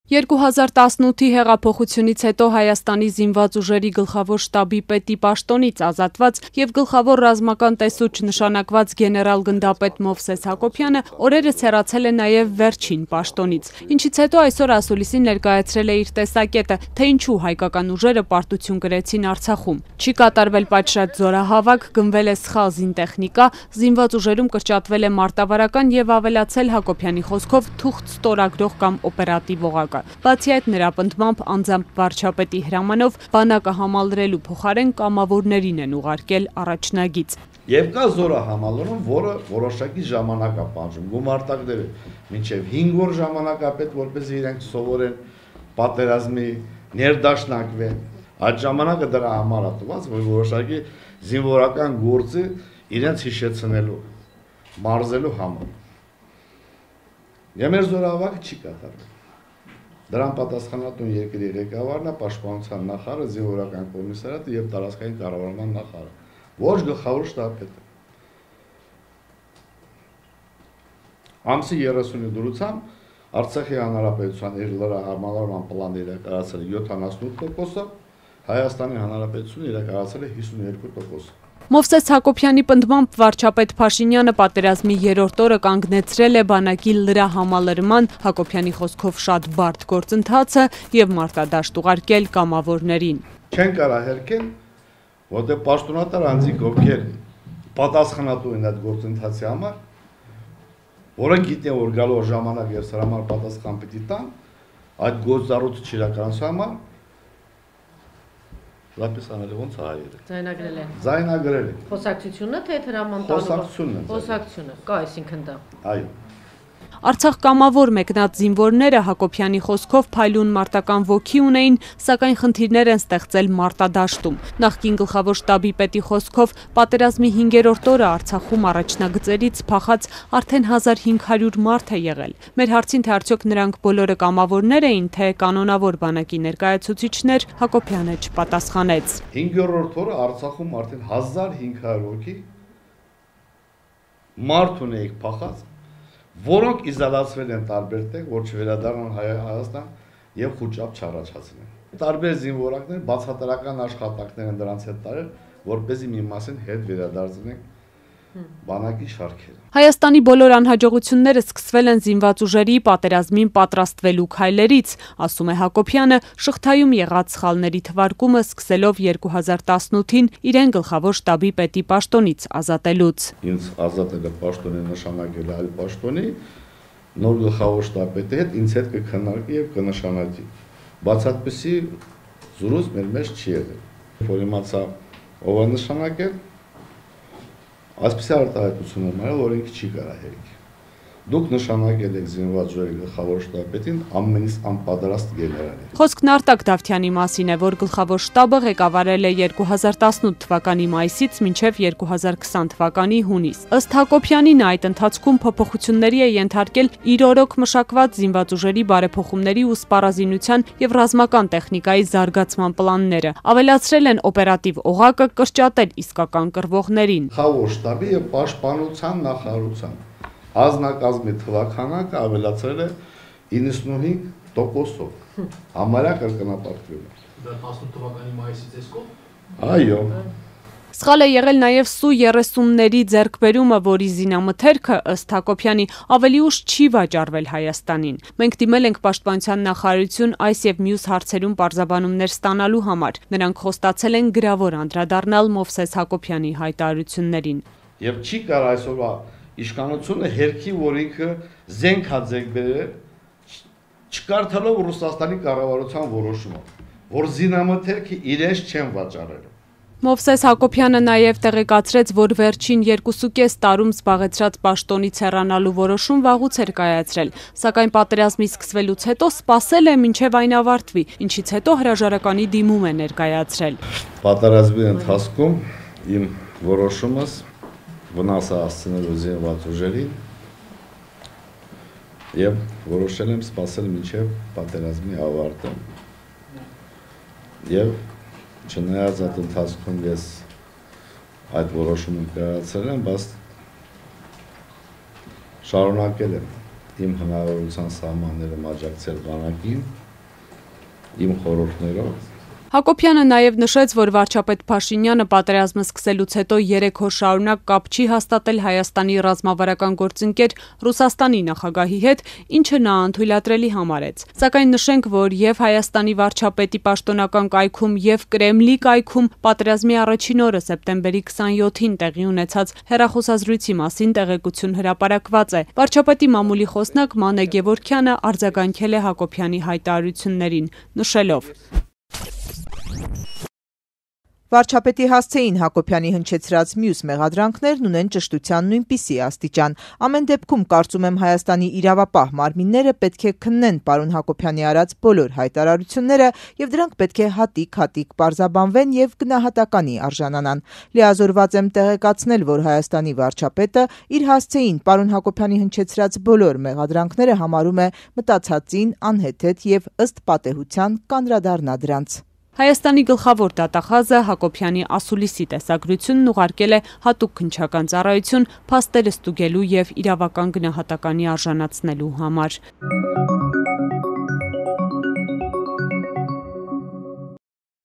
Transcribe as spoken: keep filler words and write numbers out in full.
երկու հազար տասնութի հեղափոխությունից հետո Հայաստանի զինված ուժերի գլխավոր շտաբի պետի պաշտոնից ազատված և գլխավոր ռազմական տեսուչ նշանակված գեներալ-գնդապետ Մովսես Հակոբյանը օրերս հեռացել է նաև վերջին պաշտոնից, ինչից հետո այսօր ասուլիսին ներկայացրել է իր տեսակետը, թե ինչու հայկական ուժերը պարտություն կրեցին Արցախում։ Չի կատարվել պատշաճ զորահավաք, գնվել է սխալ զինտեխնիկա, զինված ուժերում կրճատվել է մարտավարական և ավելացել Հակոբյանի խոսքով թուղթ ստորագրող կամ օպերատիվ օղակ։ Բացի այդ, նրա պնդմամբ անձամբ վարչապետի հրամանով բանակը համալրելու փոխարեն կամավորներին են ուղարկել առաջնագիծ։ Եվ կա զորահամալրում, որը որոշակի ժամանակ է պահանջում, գումարտակները մինչև հինգ օր ժամանակ է պետք, որպեսզի իրենք սովորեն պատերազմի ներդաշնակվեն։ Այդ ժամանակը դրա համար է տված, որ որոշակի զինվորական գործը իրենց հիշեցնելու, մարզելու համար։ Եվ մեր զորահավաքը չի կատարվել։ Դրան պատասխանատուն երկրի ղեկավարն է, պաշտպանության նախարարը, զինվորական կոմիսարիատը և տարածքային կառավարման նախարարը, ոչ գլխավոր շտաբը։ Ամսի երեսունի դրությամբ Արցախի Հանրապետության իր լրահամալրման պլանը իրականացել է յոթանասունութ տոկոսով, Հայաստանի Հանրապետությունը իրականացել է հիսունյոթ տոկոսով։ Մովսես Հակոբյանի պնդմամբ վարչապետ Փաշինյանը պատերազմի երրորդ օրը կանգնեցրել է բանակի լրահամալրման, Հակոբյանի խոսքով շատ բարդ գործընթացը և մարտադաշտ ուղարկել կամավորներին։ Չեն կարող հերքել, որտեղ պաշտոնատար անձինք, ովքեր պատասխանատու են այդ գործընթացի համար, որոնք գիտեն, որ գալու ժամանակ և սրա համար պատասխան պիտի տան, այդ գործառույթը չիրականացնելու համար լապես անել ոնց հայերը։ Ձայնագրել են։ Ձայնագրել են։ Խոսակցությունը թե հրաման տալու։ Խոսակցությունը։ Խոսակցությունը, կա այսինքն դա։ Այո։ Արցախ կամավոր մեկնած զինվորները Հակոբյանի խոսքով փայլուն մարտական ոգի ունեին, սակայն խնդիրներ են ստեղծել մարտադաշտում։ Նախկին գլխավոր շտաբի պետի խոսքով պատերազմի հինգերորդ օրը Արցախում առաջնագծերից փախած արդեն հազար հինգ հարյուր մարդ է եղել։ Մեր հարցին, թե արդյոք նրանք բոլորը կամավորներ էին, թե կանոնավոր բանակի ներկայացուցիչներ, Հակոբյանը չպատասխանեց։ Հինգերորդ օրը Արցախում արդեն հազար հինգ հարյուր հոգի մարդ ունեիք փախած, որոնք իզոլացվել են տարբեր տեղ, որ չվերադառնան Հայաստան և խուճապ չառաջացնեն։ Տարբեր զինվորակներ բացատրական աշխատանքներ են դրանց հետ տարել, որպեսզի մի մասին հետ վերադարձնեն բանակի շարքերը։ Հայաստանի բոլոր անհաջողությունները սկսվել են զինված ուժերի պատերազմին պատրաստվելու քայլերից, ասում է Հակոբյանը, շղթայում եղած սխալների թվարկումը սկսելով երկու հազար տասնութին իրեն գլխավոր շտաբի պետի պաշտոնից ազատելուց։ Ինձ ազատել է պաշտոնի նշանակել այլ պաշտոնի, նոր գլխավոր շտաբի հետ ինձ հետ կքննարկի և կնշանակի։ Բաց այդպիսի զրույց մեր մեջ չի եղել։ Որ իմացա ով է նշանակել, այսպիսի արտահայտություն եմ արել, որ ինքը չի կարող հերիք։ Դուք նշանակել եք զինված ուժերի գլխավոր շտաբին ամենից անպատրաստ գեներալին։ Խոսքն Արտակ Դավթյանի մասին է, որ գլխավոր շտաբը ղեկավարել է երկու հազար տասնութ թվականի մայիսից մինչև երկու հազար քսան թվականի հունիս։ Ըստ Հակոբյանի, նա այդ ընթացքում փոփոխությունների է ենթարկել իր օրոք մշակված զինված ուժերի բարեփոխումների ու սպառազինության և ռազմական տեխնիկայի զարգացման պլանները, ավելացրել են օպերատիվ օղակը, կրճատել իսկական կռվողներին։ Գլխավոր շտաբի և պաշտպանության նախարարության ազնագազմի թվաքանակը ավելացրել է իննսունհինգ տոկոսով, համարյա կրկնապատկվել է։ Դա տասնութ թվականի մայիսից էս կողմ։ Այո։ Սխալ է եղել նաև Սու երեսունների ձեռքբերումը, որի զինամթերքը, ըստ Հակոբյանի, ավելի ուշ չի վաճառվել Հայաստանին։ Մենք դիմել ենք պաշտպանության նախարարություն այս և մյուս հարցերում պարզաբանումներ ստանալու համար։ Նրանք խոստացել են գրավոր անդրադառնալ Մովսես Հակոբյանի հայտարարություններին։ Եվ չի կարող այսօրվա իշխանությունը հերքի, որ ինքը զենք է ձեռք բերել, չկարդալով Ռուսաստանի կառավարության որոշումը, որ զինամթերքը իրենց չեն վաճառել։ Մովսես Հակոբյանը նաև տեղեկացրեց, որ վերջին երկուսուկես տարում զբաղեցրած պաշտոնից հեռանալու որոշում վաղուց էր կայացրել, սակայն պատերազմի սկսվելուց հետո սպասել է մինչև այն ավարտվի, ինչից հետո հրաժարականի դիմում է ներկայացրել։ Պատերազմի ընթացքում իմ որոշումս վնասը հասցնելու զինված ուժերին և որոշել եմ սպասել մինչև պատերազմի ավարտը և չնայած այդ ընթացքում ես այդ որոշումը կայացրել եմ, բայց շարունակել եմ իմ հնարավորության սահմաններում աջակցել բանակին, իմ խորհուրդներով։ Հակոբյանը նաև նշեց, որ վարչապետ Փաշինյանը պատերազմը սկսելուց հետո երեք օր շարունակ կապ չի հաստատել Հայաստանի ռազմավարական գործընկեր Ռուսաստանի նախագահի հետ, ինչը նա անթույլատրելի համարեց։ Սակայն նշենք, որ եւ Հայաստանի վարչապետի պաշտոնական կայքում եւ Կրեմլի կայքում պատերազմի առաջին օրը սեպտեմբերի քսանյոթին տեղի ունեցած հեռախոսազրույցի մասին տեղեկություն հրապարակված է։ Վարչապետի մամուլի խոսնակ Մանե Գևորգյանը արձագանքել է Հակոբյանի հայտարարություններին, նշելով. Վարչապետի հասցեին Հակոբյանի հնչեցրած մյուս մեղադրանքներն ունեն ճշտության նույնպիսի աստիճան։ Ամեն դեպքում կարծում եմ Հայաստանի իրավապահ մարմինները պետք է քննեն պարոն Հակոբյանի արած բոլոր հայտարարությունները եւ դրանք պետք է հատիկ-հատիկ պարզաբանվեն եւ գնահատականի արժանանան։ Լիազորված եմ տեղեկացնել, որ Հայաստանի վարչապետը իր հասցեին պարոն Հակոբյանի հնչեցրած բոլոր մեղադրանքները համարում է մտածածին, անհեթեթ եւ ըստ պատեհության կանդրադառնա դրանց։ Հայաստանի գլխավոր դատախազը Հակոբյանի ասուլիսի տեսագրությունն ուղարկել է հատուկ քննչական ծառայություն փաստերը ստուգելու եւ իրավական գնահատականի արժանացնելու համար։